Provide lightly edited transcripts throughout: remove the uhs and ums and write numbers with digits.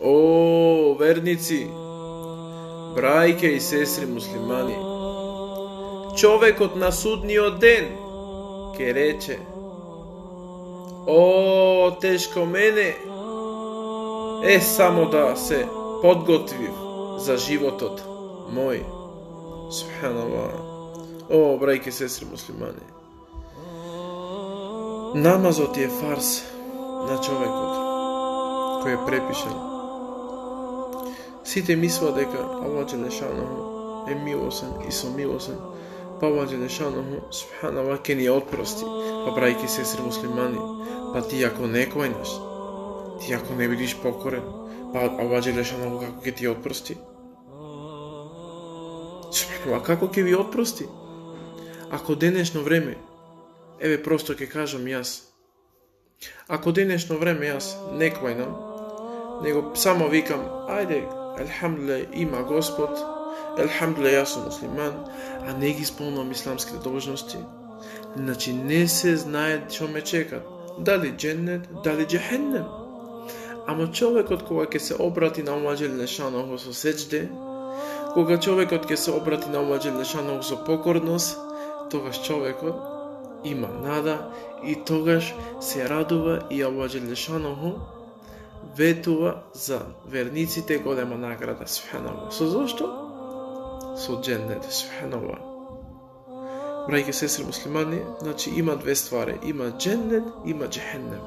О, верници, брајке и сестри муслимани, човекот на судниот ден ке рече: о, тешко мене, само да се подготвив за животот мој. Субханаллах. О, брајке и сестри муслимани, намазот е фарс на човекот кој е препишан. Сите мислат дека Аллах џелешануху е милосен и сомилосен, па Аллах џелешануху субханаллах ке ни отпрости. Па брајки и сестри муслимани, па ти ако не кланеш, ти ако не бидиш покорен, па Аллах џелешануху како ќе ти отпрости? Субханаллах, како ќе ви отпрости? Ако денешно време, еве просто ќе кажам јас, ако денешно време јас не кланам, него само викам, ајде, елхамдулилlah, има Господ, елхамдулилlah, јас сум муслиман, а не ги исполнувам исламските должности, значи не се знае што ме чекат, дали џеннет, дали џехеннем. Ама човекот кога ќе се обрати на Аллах џелешануху со сеџде, кога човекот ќе се обрати на Аллах џелешануху со покорност, тогаш човекот има нада и тогаш се радува и Аллах џелешануху ветува за верниците голема награда. Субханаллах. Со зошто? Со џеннет. Субханаллах. Брајки сестри муслимани, значи има две ствари, има џеннет, има џехеннем.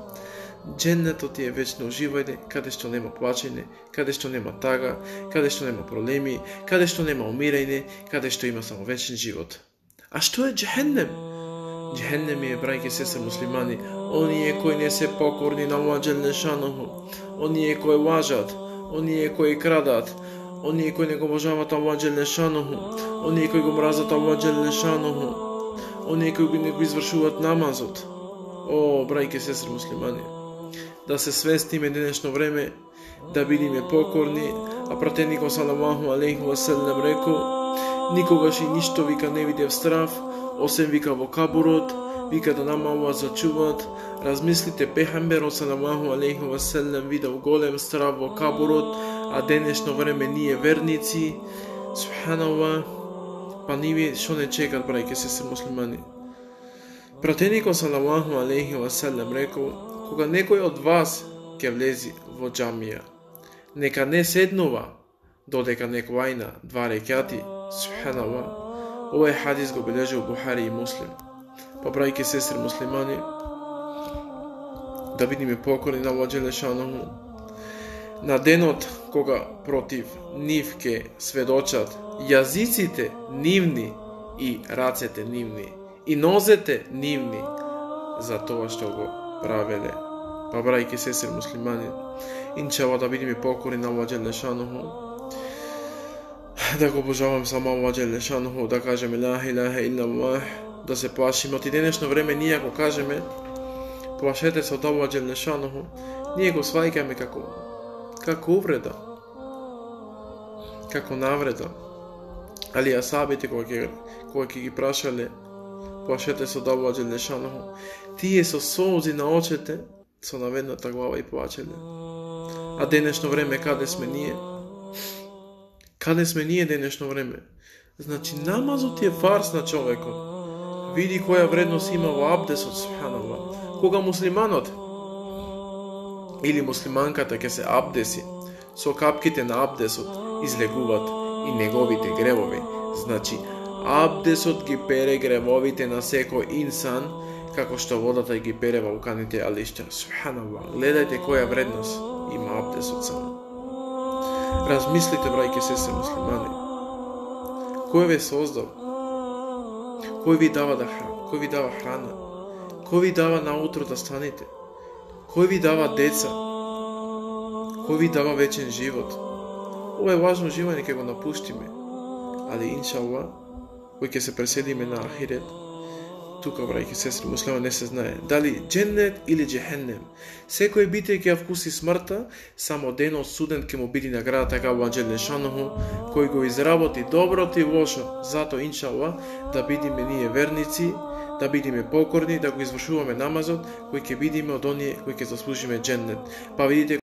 Џеннетот е вечно уживање, каде што нема плачење, каде што нема тага, каде што нема проблеми, каде што нема умирање, каде што има само вечен живот. А што е џехеннем? Џехеннем е, брајки сестри муслимани, оние кои не се покорни на Аллах џелешануху, оние кои лажат, оние кои крадат, оние кои не го обожаваат Аллах џелешануху, оние кои го мразат Аллах џелешануху, оние кои не го извршуваат намазот. О, брајки сестри муслимани, да се свестиме денешно време, да бидиме покорни, а пратеникот салаллаху алейхи ва селем рекол: никогаш и ништо вика не видев страв, осем вика во кабурот, вика да нама Аллах зачуваат. Размислите, пехамберот салаллаху алейхи ва селем видел голем страв во кабурот, а денешно време ние верници, субханаллах, па ниве што не чекат, брајке сестри муслимани. Пратеникот салаллаху алейхи ва селем рекол: кога некој од вас ќе влези во џамија, нека не седнува додека не клајна 2 рекати. Субханаллах. Овој хадис го бележи Бухари и Муслим. Па брајки сестри муслимани, да бидиме покорни на Аллах џелешануху. На денот кога против нив ке сведочат јазиците нивни и рацете нивни и нозете нивни за тоа што го правеле. Па брајки сестри муслимани, иншалла да бидиме покорни на Аллах џелешануху, да го обожавам само Аллах џелешануху, да кажеме ла илаха илlallah, да се плашиме. Од денешно време ние ако кажеме плашете се од Аллах џелешануху, ние го сваќаме како увреда, како навреда. Али асабите кога ќе ги прашале плашете се од Аллах џелешануху, тие со солзи на очите, со наведната глава и плачеле. А денешно време каде сме ние? Каде сме ние денешно време? Значи намазот е фарс на човекот. Види која вредност има во абдесот, субханаллах. Кога муслиманот или муслиманката ќе се абдеси, со капките на абдесот излегуваат и неговите гревови. Значи абдесот ги пере гревовите на секој инсан, како што водата ги пере вулканите алишта. Субханаллах. Гледајте која вредност има абдесот само. Размислите, брајки сестри муслимани. Кој ве создал? Кој ви дава кој ви дава храна? Кој ви дава наутро да станете? Кој ви дава деца? Кој ви дава вечен живот? Ова е важно живање, ќе го напуштиме. Али иншаллах, кој ќе се преседиме на ахирет, тука, брајки сестри муслимани, не се знае дали џеннет или џехеннем. Секој бите ќе ја вкуси смртта, само денот суден ќе му биде наградата како Аллах џелешануху, кој го изработи доброто и лошо. Зато иншаллах да бидиме ние верници, да бидиме покорни, да го извршуваме намазот, кој ќе бидиме од оние кои ќе заслужиме џеннет. Па видите